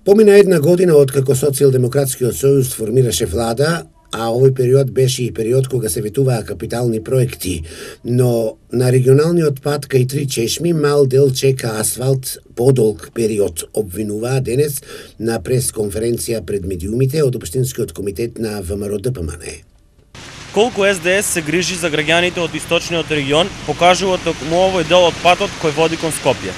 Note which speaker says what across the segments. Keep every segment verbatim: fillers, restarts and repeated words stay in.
Speaker 1: Помина една година откако Социјалдемократскиот сојуз формираше влада, а овој период беше и период кога се ветуваа капитални проекти, но на регионалниот пат кај Три Чешми мал дел чека асфалт подолг период, обвинуваа денес на пресконференција пред медиумите од Општинскиот комитет на ВМРО-ДПМН.
Speaker 2: Колку С Д С се грижи за граѓаните од источниот регион, покажува токму овој дел од патот кој води кон Скопје.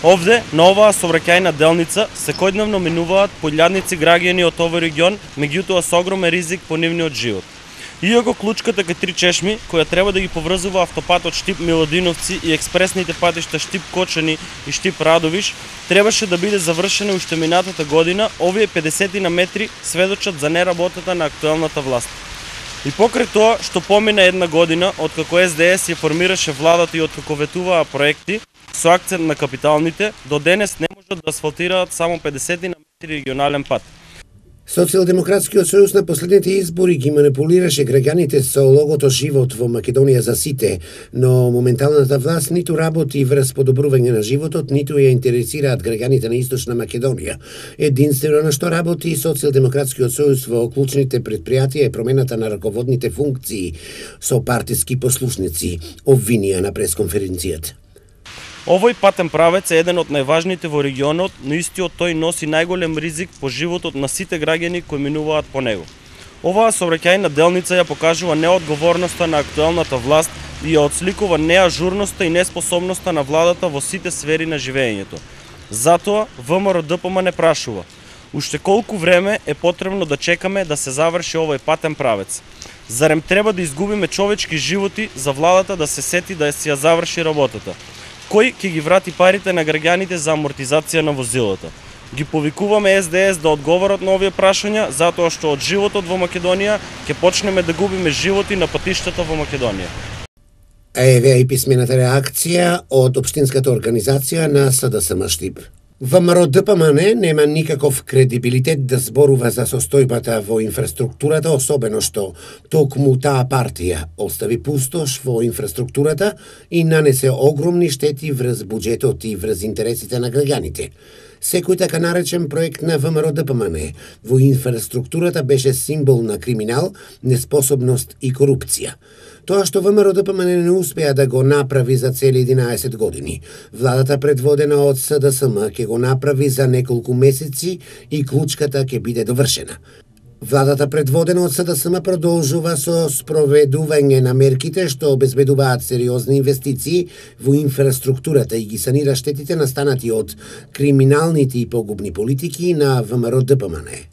Speaker 2: Овде, на оваа сообраќајна делница, секојдневно минуваат поилјадници граѓани од овој регион, меѓутоа со огромен ризик по нивниот живот. Иако клучката кај Три Чешми, која треба да ги поврзува автопатот Штип-Милодиновци и експресните патишта Штип-Кочани и Штип-Радовиш, требаше да биде завршена уште минатата година, овие педесет на метри сведочат за неработата на актуелната власт. И покрај тоа, што помина една година, откако С Д С ја формираше владата и откако ветуваа проекти, со акцент на капиталните, до денес не можат да асфалтираат само педесет на метри регионален пат.
Speaker 1: Социјалдемократскиот сојуз на последните избори ги манипулираше граѓаните со логото живот во Македонија за сите, но моменталната власт ниту работи врз подобрување на животот, ниту ја интересираат граѓаните на Источна Македонија. Единствено на што работи Социјалдемократскиот сојуз во клучните предпријатија е промената на раководните функции со партиски послушници, обвинија на пресконференцијата.
Speaker 2: Овој патен правец е еден од најважните во регионот, но истиот тој носи најголем ризик по животот на сите граѓани кои минуваат по него. Оваа сообраќајна делница ја покажува неодговорноста на актуелната власт и ја отсликува неажурноста и неспособноста на владата во сите сфери на живеењето. Затоа ВМРО-ДПМН прашува: уште колку време е потребно да чекаме да се заврши овој патен правец? Зарем треба да изгубиме човечки животи за владата да се сети да си ја заврши работата? Кој ќе ги врати парите на граѓаните за амортизација на возилата? Ги повикуваме С Д С да одговорат на овие прашања, затоа што од животот во Македонија ќе почнеме да губиме животи на патиштата во Македонија.
Speaker 1: Еве и писмената реакција од Општинската организација на С Д С М Штип. ВМРО-ДПМН нема никаков кредибилитет да зборува за состојбата во инфраструктурата, особено што токму таа партија остави пустош во инфраструктурата и нанесе огромни штети врз буџетот и врз интересите на граѓаните. Секој така наречен проект на ВМРО-ДПМН во инфраструктурата беше символ на криминал, неспособност и корупција. Тоа што ВМРО-ДПМН не успеа да го направи за цели единаесет години, владата предводена од С Д С М ќе го направи за неколку месеци и клучката ќе биде довршена. Владата предводена од С Д С М продолжува со спроведување на мерките што обезбедуваат сериозни инвестиции во инфраструктурата и ги санира штетите настанати од криминалните и погубни политики на ВМРО-ДПМН.